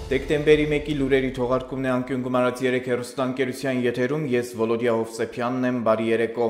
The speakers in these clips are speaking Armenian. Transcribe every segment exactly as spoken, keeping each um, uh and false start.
Դեկտեմբերի մեկի լուրերի թողարկումն է անկյուն գումարած երեք հեռուստաընկերության եթերում, ես Վոլոդիա Հովսեփյանն եմ, բարի երեկո։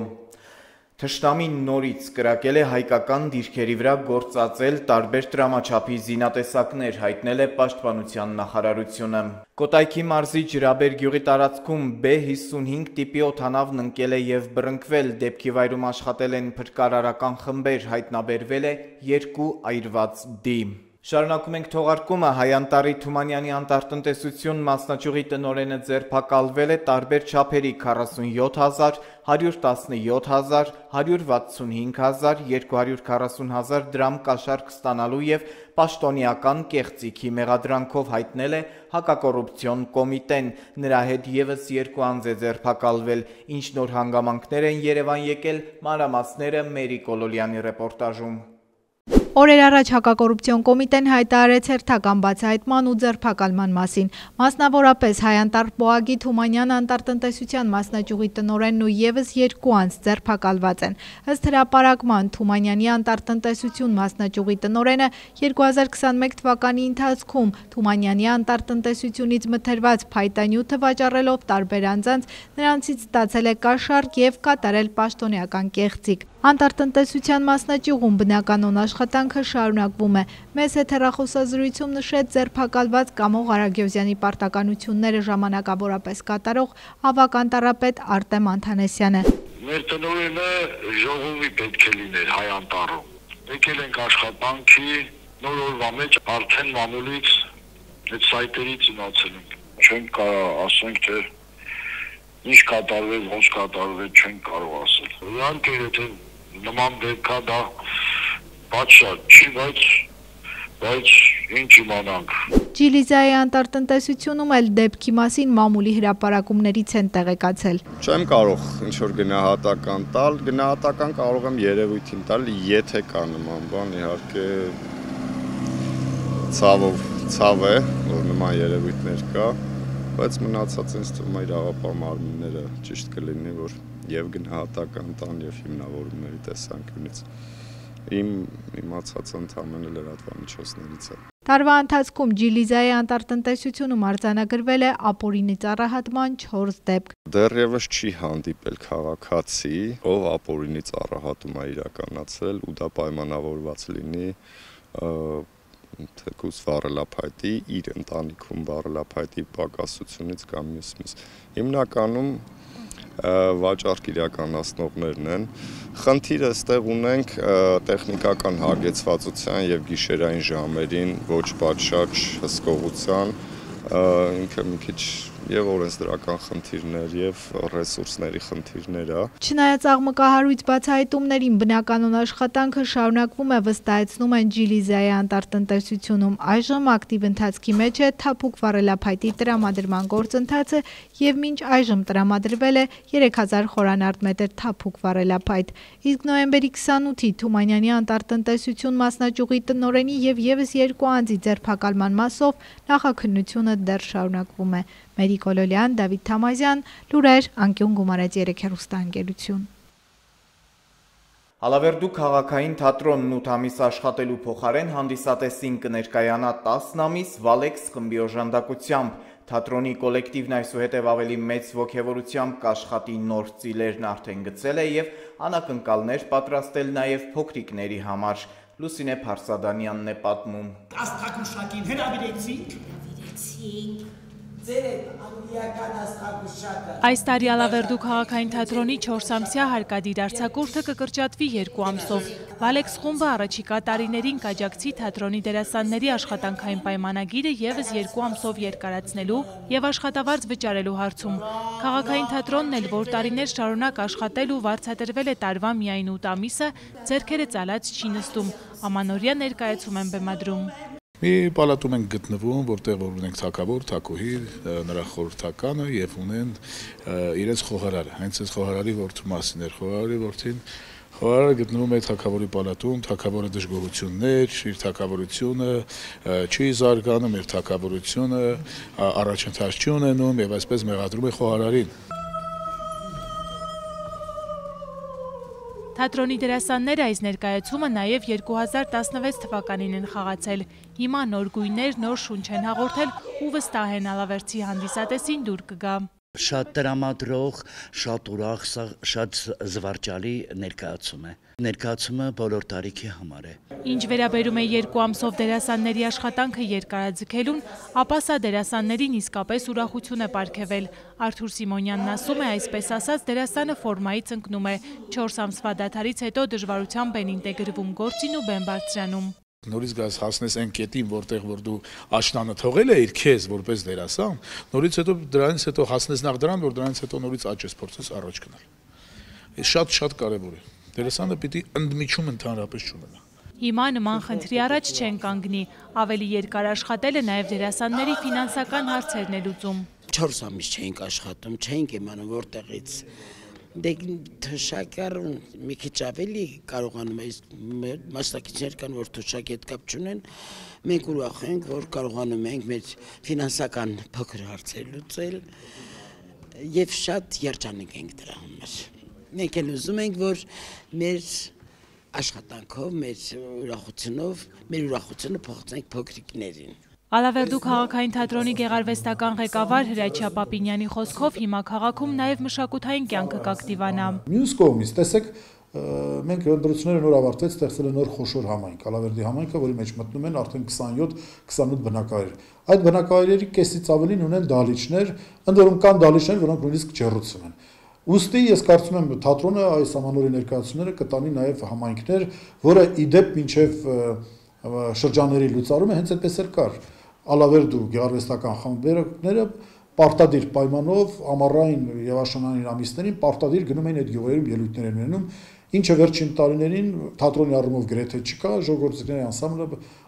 Թշնամին նորից կրակել է հայկական դիրքերի վրա գործածել տարբեր տրամաչափի զինատեսակներ, հայտնել է Պաշտպանության նախարարությունը։ Կոտայքի մարզի Ջրաբեր գյուղի տարածքում B հիսունհինգ տիպի օդանավն ընկել է եւ բռնկվել, դեպքի վայրում աշխատել են փրկարարական խմբեր, հայտնաբերվել է երկու այրված դի։ Շարունակում ենք թողարկումը, Հայանտարի Թումանյանի անտառտնտեսություն մասնաճյուղի տնօրենը ձերբակալվել է տարբեր չափերի քառասունյոթ հազար, հարյուր տասնյոթ հազար, հարյուր վաթսունհինգ հազար, երկու հարյուր քառասուն հազար դրամ կաշառք ստանալու եւ պաշտոնյական կեղծիքի մեղադրանքով, հայտնել է հակակոռուպցիոն կոմիտեն, նրա հետ եւս երկու անձ է ձերբակալվել, ինչ նոր հանգամանքներ են Երևան եկել, մանրամասները Մերի Կոլոլյանի ռեպորտաժում։ Օրեր առաջ հակակոռուպցիոն կոմիտեն հայտարարեց հերթական բացահայտման ու ձերբակալման մասին։ Մասնավորապես Հայանտար Պոագի Թումանյան անտառտնտեսության մասնաճյուղի տնօրենն ու եւս երկու անձ ձերբակալված են։ Ըստ հրապարակման Թումանյանի անտառտնտեսություն մասնաճյուղի տնօրենը երկու հազար քսաներկու թվականի ընթացքում Թումանյանի անտառտնտեսությունից մթերված փայտանյութը վաճառելով տարբեր անձանց նրանցից ստացել է կաշառք եւ կատարել պաշտոնյական կեղծիք։ Անտառտնտեսության մասնաճյուղում բնականոն աշխատանքը շարունակվում է։ Մեծ հեռախոսազրույցում նշեց ձերբակալված Կամո Ղարագյոզյանի պարտականությունները ժամանակավորապես կատարող ավագ անտառապետ Արտեմ Անթանեսյանը։ Մեր տնօրենը ժողովի պետք է լիներ Հայանտառում։ Եկել ենք աշխատանքի, նոր օրվա մեջ արդեն մամուլից այդ սայտերից իմացել ենք։ Չենք կարող ասենք, թե ինչ կատարվեց, ոնց կատարվեց, չենք կարող ասել։ Իհարկե, եթե նման դեպքա դա պատշաճ չի, բայց բայց ինչ իմանանք։ Ջիլիզայի անտառտնտեսությունում էլ դեպքի մասին մամուլի հրապարակումներից են տեղեկացել։ Չեմ կարող ինչ-որ գնահատական տալ, գնահատական կարող եմ երևույթին տալ, եթե կա նման բան, իհարկե ցավով ցավ է, որ նման երևույթներ կա, բայց մնացած ինձ թվում է իրավապահ մարմինները ճիշտ կլինի, որ եւ գնահատական տան եւ հիմնավորումների տեսանկյունից իմ իմացած ընդամենը լրատվամիջոցներից է։ Տարվա ընթացքում Ջիլիզայի անտառտնտեսությունում արձանագրվել է ապօրինի ծառահատման չորս դեպք։ Դեռևս չի հանդիպել քաղաքացի, ով ապօրինի ծառահատում է իրականացրել ու դա պայմանավորված լինի թեկուզ վառելափայտի, իր ընտանիքում վառելափայտի պակասությունից կամ մյուս-մյուս։ Հիմնականում վաճառք իրականացնողներն են։ Խնդիրը ստեղ ունենք տեխնիկական հագեցվածության եւ գիշերային ժամերին ոչ պատշաճ հսկողության, ինքը մի քիչ եւ օրենսդրական խնդիրներ եւ ռեսուրսների խնդիրներ է։ Չնայած աղմկահարույց բացահայտումներին բնականոն աշխատանքը շարունակվում է, վստահեցնում են Ջիլիզայի անտառտնտեսությունում։ Այժմ ակտիվ ընթացքի մեջ է թափուկ վառելափայտի տրամադրման գործընթացը եւ մինչ այժմ տրամադրվել է երեք հազար խորանարդ մետր թափուկ վառելափայտ։ Իսկ նոյեմբերի քսանութի Թումանյանի անտառտնտեսություն մասնաճյուղի տնօրենի եւ եւս երկու անձի ձերբակալման մասով նախաքննությունը դեռ շարունակվում է։ Մերի Կոլոլյան, Դավիթ Թամազյան, լուրեր, անկյուն գումարած երեք հեռուստաընկերություն։ Ալավերդու քաղաքային թատրոնն ութ ամիս աշխատելու փոխարեն հանդիսատեսին կներկայանա տասն ամիս Վալեքս խմբի օժանդակությամբ։ Թատրոնի կոլեկտիվն այսուհետև ավելի մեծ ոգևորությամբ կաշխատի, նոր ծիլերն արդեն գծել է եւ անակնկալներ պատրաստել նաեւ փոքրիկների համար։ Լուսինե Փարսադանյանն է պատմում։ Աստղագուշակին հրավիրեցինք։ Հրավիրեցինք։ Այս տարի Ալավերդու քաղաքային թատրոնի չորսամսյա հարկադիր արձակուրդը կկրճատվի երկու ամսով։ Վալեքս խումբը առաջիկա տարիներին կաջակցի թատրոնի դերասանների աշխատանքային պայմանագիրը եւս երկու ամսով երկարացնելու եւ աշխատավարձ վճարելու հարցում։ Քաղաքային թատրոնն էլ, որ տարիներ շարունակ աշխատել ու վարձատրվել է տարվա միայն ութ ամիսը, ձեռքերը ծալած չի նստում, ամանորյա ներկայացում են բեմադրում։ Մի պալատում ենք գտնվում, որտեղ որ ունենք թագավոր, թագուհի, նրա խորհրդականը եւ ունեն իրենց խոհարարը, հենց այս խոհարարի որդու մասին էր, խոհարարի որդին խոհարարը գտնվում է թագավորի պալատում, թագավորը դժգոհություններ, իր թագավորությունը չի զարգանում, իր թագավորությունը առաջընթաց չի ունենում եւ այսպես մեղադրում է խոհարարին։ Թատրոնի դերասանները այս ներկայացումը նաև երկու հազար տասնվեց թվականին են խաղացել։ Հիմա նոր գույներ, նոր շունչ են հաղորդել ու վստահ են Ալավերդի հանդիսատեսին դուր կգա։ Շատ տրամադրող, շատ ուրախ, շատ զվարճալի ներկայացում է։ Ներկայացումը բոլոր տարիքի համար է։ Ինչ վերաբերում է երկու ամսով դերասանների աշխատանքը երկարաձգելուն, ապա սա դերասաններին իսկապես ուրախություն է պարգևել։ Արթուր Սիմոնյանն ասում է, այսպես ասած, դերասանը ֆորմայից ընկնում է։ Չորս ամսվա դադարից հետո դժվարությամբ են ինտեգրվում գործին ու բեմ բարձրանում։ Նորից գաս հասնես այն կետին, որտեղ որ դու աշնանը թողել ես քեզ որպես դերասան, նորից հետո դրանից հետո հասնես նախ դրան, որ դրանից հետո նորից աճես փորձես առաջ գնալ։ Այս շատ-շատ կարևոր է։ Դերասանը պիտի ընդմիջում ընդհանրապես չունենա։ Հիմա նման խնդրի առաջ չեն կանգնի, ավելի երկար աշխատելը նաև դերասանների ֆինանսական հարցերն է լուծում։ Չորս ամիս չէինք աշխատում, չէինք իմանում որտեղից։ Դե թշակար մի քիչ ավելի կարողանում է, մասնակիցներ կան, որ թշակի հետ կապ չունեն, մենք ուրախ ենք, որ կարողանում ենք մեր ֆինանսական փոքր հարցեր լուծել եւ շատ երջանիկ ենք դրա համար։ Մենք էլ ուզում ենք, որ մեր աշխատանքով, մեր ուրախությունով, մեր ուրախությունը փոխենք փոքրիկներին։ Ալավերդու քաղաքային թատրոնի գեղարվեստական ղեկավար Հրաչյա Պապինյանի խոսքով հիմա քաղաքում նաև մշակութային կյանքը կակտիվանա։ Մյուս կողմից, տեսեք, մենք ընտրությունները նոր ավարտվեց, ստեղծել են նոր խոշոր համայնք, Ալավերդի համայնքը, որի մեջ մտնում են արդեն քսանյոթ քսանութ բնակավայր։ Այդ բնակավայրերի կեսից ավելին ունեն դահլիճներ, ընդ որում կան դահլիճներ, որոնք նույնիսկ ջեռուցում են։ Ուստի ես կարծում եմ թատրոնը այս ամանորի ներկայացումները կտանի նաև համայնքներ, որը իդեպ մինչև շրջանների լուծարումը հենց այդպես էլ կար։ Ալավերդու գեղարվեստական խմբերները պարտադիր պայմանով ամառային եւ աշնանային ամիսներին պարտադիր գնում էին այդ գյուղերում ելույթներ են ունենում, ինչը վերջին տարիներին թատրոնի առումով գրեթե չկա, ժողովրդների անսամբլը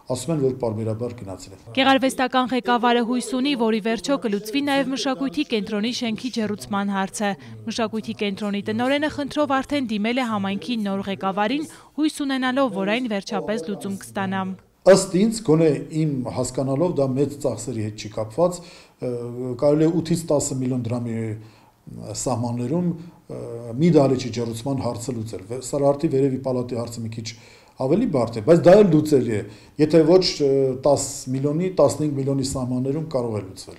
ասում են, որ պարբերաբար գնացել է։ Գեղարվեստական ղեկավարը հույս ունի, որ ի վերջո կլուծվի նաև մշակույթի կենտրոնի շենքի ջեռուցման հարցը։ Մշակույթի կենտրոնի տնօրենը խնդրով արդեն դիմել է համայնքի նոր ղեկավարին, հույս ունենալով, որ այն վերջապես լուծում կստանա։ Ըստ ինձ, գոնե իմ հասկանալով դա մեծ ծախսերի հետ չի կապված, կարելի է ութից տասը միլիոն դրամի սահմաններում մի դահլիճի ջեռուցման հարցը լուծել։ Սարահարթի վերևի պալատի հարցը մի քիչ ավելի բարդ է, բայց դա էլ լուծելի է, եթե ոչ տասը միլիոնի, տասնհինգ միլիոնի սահմաններում կարող է լուծվել։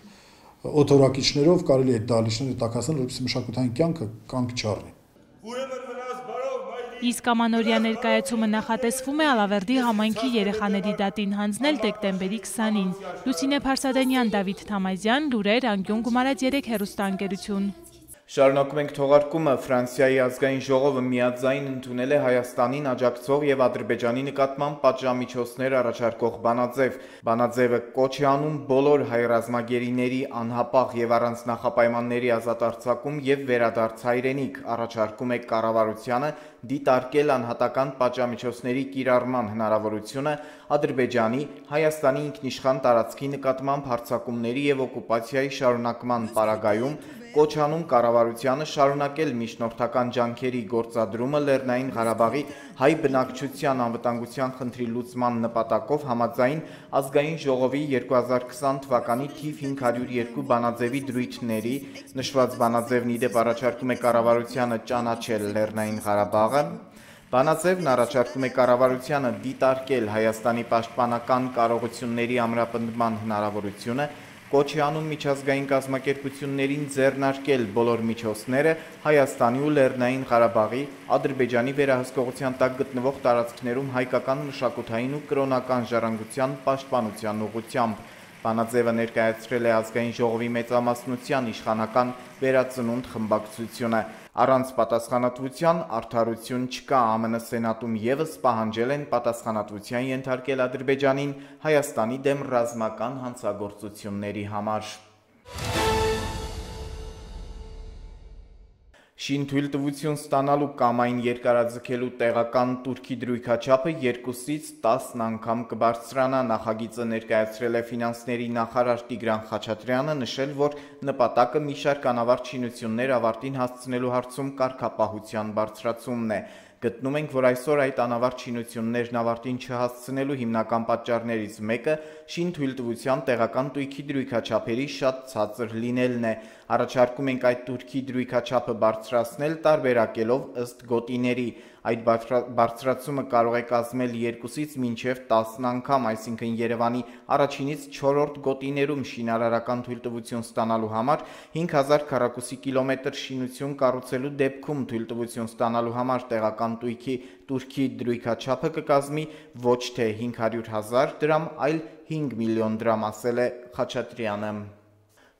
Օթորակիչներով կարելի է այդ դահլիճները տաքացնել, որպեսզի մշակութային կյանքը կանգ չառնի։ Իսկ ամանորյա ներկայացումը նախատեսվում է Ալավերդի համայնքի երեխաների դատին հանձնել դեկտեմբերի քսանին։ Լուսինե Փարսադենյան, Դավիթ Թամազյան, լուրեր, Անկյուն գումարած երեք հեռուստաընկերություն։ Շարունակում ենք թողարկումը։ Ֆրանսիայի ազգային ժողովը միաձայն ընդունել է Հայաստանին աջակցող եւ Ադրբեջանի նկատմամբ պատժամիջոցներ առաջարկող բանաձև։ Բանաձևը կոչ է անում բոլոր հայ ռազմագերիների անհապաղ եւ առանց նախապայմանների ազատ արձակում եւ վերադարձ հայրենիք, առաջարկում է կառավարությանը դիտարկել անհատական պատժամիջոցների կիրառման հնարավորությունը Ադրբեջանի, Հայաստանի ինքնիշխան տարածքի նկատմամբ հարձակումների եւ օկուպացիայի շարունակման պարագայում, կոչ անում կառավարությանը շարունակել միջնորդական ջանքերի գործադրումը Լեռնային Ղարաբաղի հայ բնակչության անվտանգության խնդրի լուծման նպատակով համաձայն ազգային ժողովի երկու հազար քսան թվականի թիվ հինգ հարյուր երկու բանաձևի դրույթների, նշված բանաձևն իդեպ առաջարկում է կառավարությանը ճանաչել Լեռնային Ղարաբաղը։ Բանաձևն առաջարկում է կառավարությանը դիտարկել Հայաստանի պաշտպանական կարողությունների ամրապնդման հնարավորությունը, կոչ է անում միջազգային կազմակերպություններին ձեռնարկել բոլոր միջոցները Հայաստանի ու Լեռնային Ղարաբաղի, Ադրբեջանի վերահսկողության տակ գտնվող տարածքներում հայկական մշակութային ու կրոնական ժառանգության պաշտպանության ուղղությամբ։ Բանաձևը ներկայացրել է ազգային ժողովի մեծամասնության իշխանական վերածնունդ խմբակցությունը։ Առանց պատասխանատվության արդարություն չկա, ԱՄՆ սենատում եւս պահանջել են պատասխանատվության ենթարկել Ադրբեջանին Հայաստանի դեմ ռազմական հանցագործությունների համար։ Շինթույլտվություն ստանալու կամ այն երկարաձգելու տեղական Թուրքի դրույքաչափը երկուսից տասն անգամ կբարձրանա, նախագիծը ներկայացրել է ֆինանսների նախարար Տիգրան Խաչատրյանը, նշել, որ նպատակը մի շարք անավարտ շինություններ ավարտին հասցնելու հարցում կարգապահության բարձրացումն է։ Գտնում ենք, որ այսօր այդ անավարտ շինություններն ավարտին չհասցնելու հիմնական պատճառներից մեկը շինթույլտվության տեղական տույքի դրույքաչափերի շատ ցածր լինելն է։ Առաջարկում ենք այդ տուրքի դրույքաչափը բարձրացնել տարբերակելով ըստ գոտիների։ Այդ բարձրացումը կարող է կազմել երկուսից մինչև տասն անգամ, այսինքն Երևանի առաջինից չորրորդ գոտիներում շինարարական թույլտվություն ստանալու համար հինգ հազար քառակուսի կիլոմետր շինություն կառուցելու դեպքում թույլտվություն ստանալու համար տեղական տույքի տուրքի դրույքաչափը կկազմի ոչ թե հինգ հարյուր հազար դրամ, այլ հինգ միլիոն դրամ, ասել է Խաչատրյանը։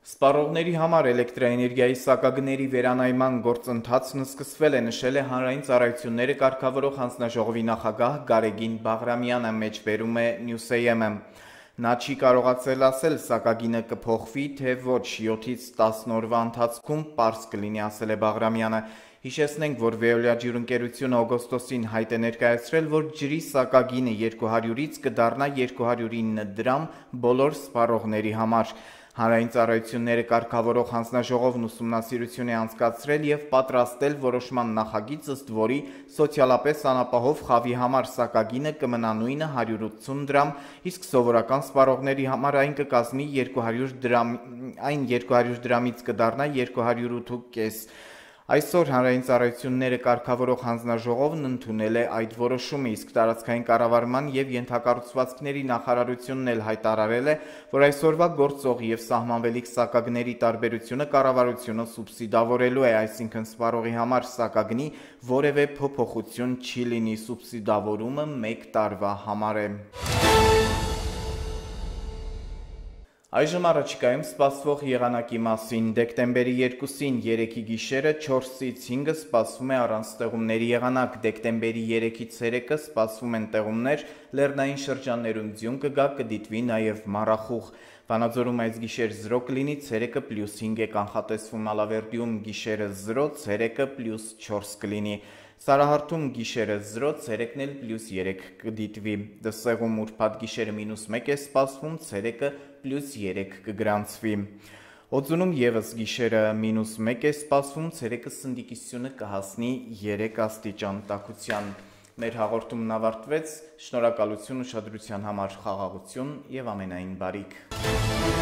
Սպառողների համար էլեկտրաէներգիայի սակագների վերանայման գործընթացն սկսվել է, նշել է Հանրային ծառայությունները կարգավորող հանձնաժողովի նախագահ Գարեգին Բաղրամյանը, մեջբերում է Նյուսեյեմը։ Նա չի կարողացել ասել սակագինը կփոխվի, թե ոչ, յոթից տասն օրվա ընթացքում պարզ կլինի, ասել է Բաղրամյանը։ Հիշեցնենք, որ Veolia ջրընկերությունը օգոստոսին հայտ է ներկայացրել, որ ջրի սակագինը երկու հարյուրից կդառնա երկու հարյուր ինը դրամ բոլոր սպառողների համար։ Հանրային ծառայությունները կարգավորող հանձնաժողովն ուսումնասիրություն է անցկացրել եւ պատրաստել որոշման նախագիծ, ըստ որի սոցիալապես անապահով խավի համար սակագինը կմնա նույնը հարյուր ութսուն դրամ, իսկ սովորական սպառողների համար այն կկազմի երկու հարյուր դրամ, այն երկու հարյուր դրամից կդառնա երկու հարյուր ութ կես։ Այսօր Հանրային ծառայությունները կարգավորող հանձնաժողովն ընդունել է այդ որոշումը, իսկ տարածքային կառավարման եւ ենթակառուցվածքների նախարարությունն էլ հայտարարել է, որ այսօրվա գործող եւ սահմանվելիք սակագների տարբերությունը կառավարությունը սուբսիդավորելու է, այսինքն սպառողի համար սակագնի որևէ փոփոխություն չի լինի, սուբսիդավորումը մեկ տարվա համար է։ Այժմ առաջիկայում սպասվող եղանակի մասին։ Դեկտեմբերի երկուսին երեքի գիշերը չորսից հինգը սպասվում է առանց տեղումների եղանակ, դեկտեմբերի երեքից երեկը սպասվում են տեղումներ, լեռնային շրջաններում ձյուն կգա, կդիտվի նաև մառախուղ։ Վանաձորում այս գիշեր զրո կլինի, ցերեկը պլյուս հինգ է կանխատեսվում, Ալավերդիում գիշերը զրո, ցերեկը պլյուս չորս կլինի։ Սարահարթում գիշերը զրո, ցերեկն էլ պլյուս երեք կդիտվի։ Դսեղում ուրբաթ գիշերը մինուս մեկ է սպասվում, ցերեկը պլյուս երեք կգրանցվի։ Օձունում եւս գիշերը մինուս մեկ է սպասվում, ցերեկը սնդիկիսությունը կհասնի երեք աստիճան տաքության։ Մեր հաղորդումն ավարտվեց, շնորհակալություն ուշադրության համար, խաղաղություն եւ ամենայն բարիք։